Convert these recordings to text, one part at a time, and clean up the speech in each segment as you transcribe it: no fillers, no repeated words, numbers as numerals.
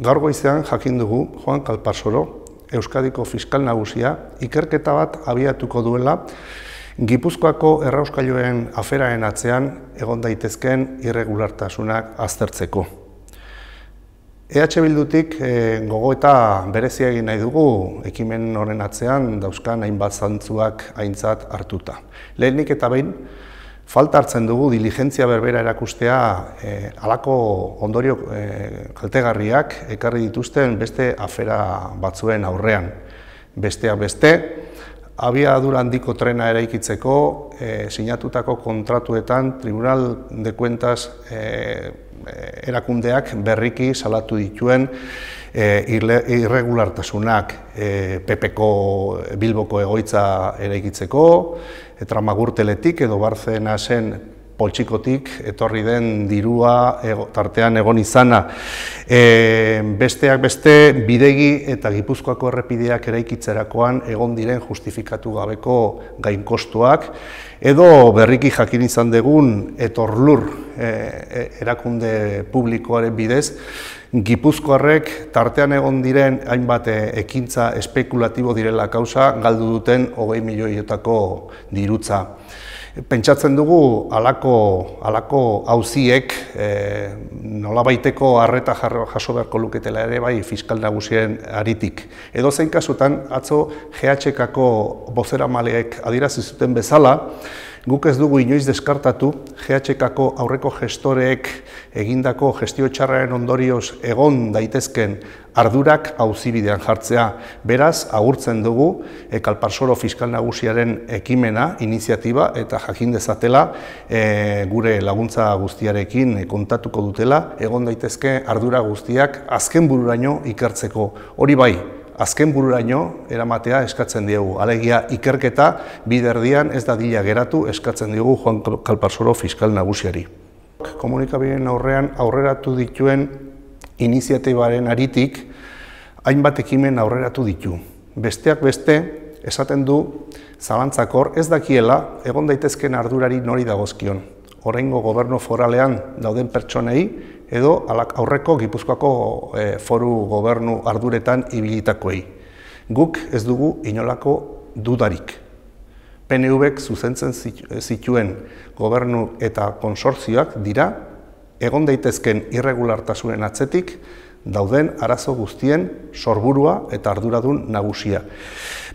Gaur goizean jakin dugu Juan Calparsoro, Euskadiko fiskal nagusia, ikerketa bat abiatuko duela Gipuzkoako errauskailuen aferaren atzean egon daitezkeen irregulartasunak aztertzeko. EH Bildutik gogoeta berezia egin nahi dugu ekimen horren atzean dauzkan hainbat zantzuak aintzat hartuta. Lehenik eta behin, falta hartzen dugu diligentzia berbera erakustea halako ondorio kaltegarriak ekarri dituzten beste afera batzuen aurrean. Besteak beste, abiadura handiko trena eraikitzeko sinatutako kontratuetan Tribunal de Cuentas erakundeak berriki salatu dituen irregulartasunak, PPko Bilboko egoitza eraikitzeko, Tramagurteletik edo Barcenasen poltsikotik etorri den dirua tartean egon izana. Besteak beste, bidegi eta Gipuzkoako errepideak eraikitzerakoan egon diren justifikatu gabeko gainkostuak, edo berriki jakin izan dugun Etorlur erakunde publikoaren bidez, Gipuzkoarrek tartean egon diren hainbat ekintza espekulatibo direla kausa galdu duten 20 milioietako dirutza. Pentsatzen dugu halako auziek nolabaiteko arreta jaso beharko luketela ere bai fiskal nagusien aritik. Edozein kasutan, atzo GHKko bozeramaleek adierazi zuten bezala, guk ez dugu inoiz deskartatu GHKko aurreko gestoreek egindako gestio txarraren ondorioz egon daitezken ardurak auzibidean jartzea. Beraz, agurtzen dugu Calparsoro fiskal nagusiaren ekimena, iniziatiba eta jakin dezatela gure laguntza guztiarekin kontatuko dutela, egon daitezke ardura guztiak azken bururaino ikertzeko. Hori bai, azken bururaino eramatea eskatzen diegu. Alegia ikerketa biderdian ez dadila geratu eskatzen diegu Juan Calparsoro fiskal nagusiari. Komunikabideen aurrean aurreratu dituen iniziatibaren aritik hainbat ekimen aurreratu ditu. Besteak beste esaten du zalantzakor ez dakiela egon daitezken ardurari nori dagozkion. Oraingo gobernu foralean dauden pertsonei edo aurreko Gipuzkoako foru gobernu arduretan ibilitakoei. Guk ez dugu inolako dudarik. PNVk zuzentzen zituen gobernu eta konsortzioak dira, egon daitezken irregulartasunen atzetik dauden arazo guztien sorburua eta arduradun nagusia.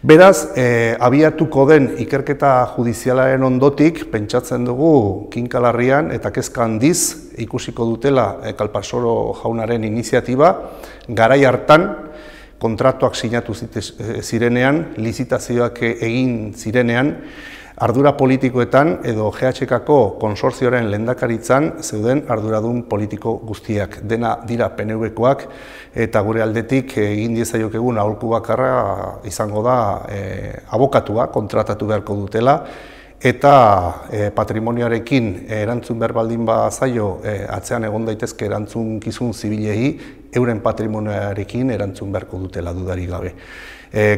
Beraz, abiatuko den ikerketa judizialaren ondotik, pentsatzen dugu kinkalarrian eta kezka handiz ikusiko dutela Calparsoro jaunaren iniziatiba, garai hartan kontratuak sinatu zirenean, lizitazioak egin zirenean, ardura politikoetan edo GHKko konsortzioaren lehendakaritzan zeuden arduradun politiko guztiak. Dena dira PNVkoak eta gure aldetik egin diezaiokegun aholku bakarra izango da abokatua kontratatu beharko dutela eta patrimonioarekin erantzun behar baldin bazaio atzean egon daitezke erantzukizun zibilei euren patrimonioarekin erantzun beharko dutela dudarik gabe.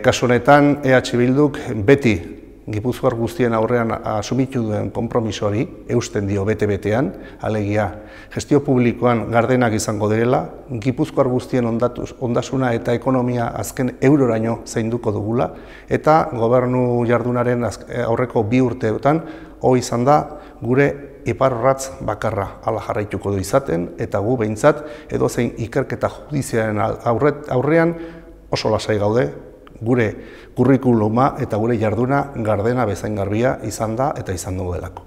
Kasu honetan EH Bilduk beti Gipuzkoar guztien aurrean asumitu duen konpromisoari eusten dio bete-betean, alegia gestio publikoan gardenak izango direla, Gipuzkoar guztien ondasuna eta ekonomia azken euroraino zainduko dugula, eta gobernu jardunaren aurreko 2 urteetan hori izan da gure iparrorratz bakarra hala jarraituko du izaten, eta gu behintzat edozein ikerketa judiziaren aurrean oso lasai gaude, gure kurrikuluma eta gure jarduna gardena bezain garbia izan da eta izan dugu delako.